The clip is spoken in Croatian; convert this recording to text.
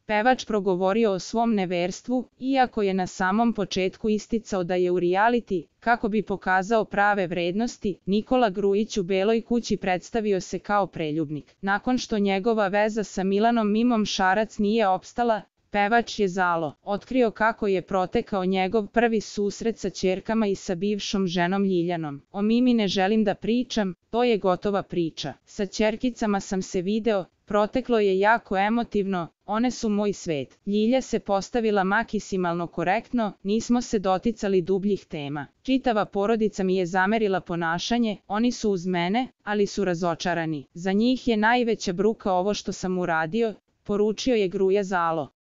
pevač progovorio o svom neverstvu, iako je na samom početku isticao da je u reality, kako bi pokazao prave vrednosti. Nikola Grujić u Beloj kući predstavio se kao preljubnik. Nakon što njegova veza sa Milanom Mimom Šarac nije opstala, pevač je Zalo otkrio kako je protekao njegov prvi susret sa ćerkama i sa bivšom ženom Ljiljanom. O Mimi ne želim da pričam, to je gotova priča. Sa ćerkicama sam se video, proteklo je jako emotivno, one su moj svet. Ljilja se postavila maksimalno korektno, nismo se doticali dubljih tema. Čitava porodica mi je zamerila ponašanje, oni su uz mene, ali su razočarani. Za njih je najveća bruka ovo što sam uradio, poručio je Gruja Zalo.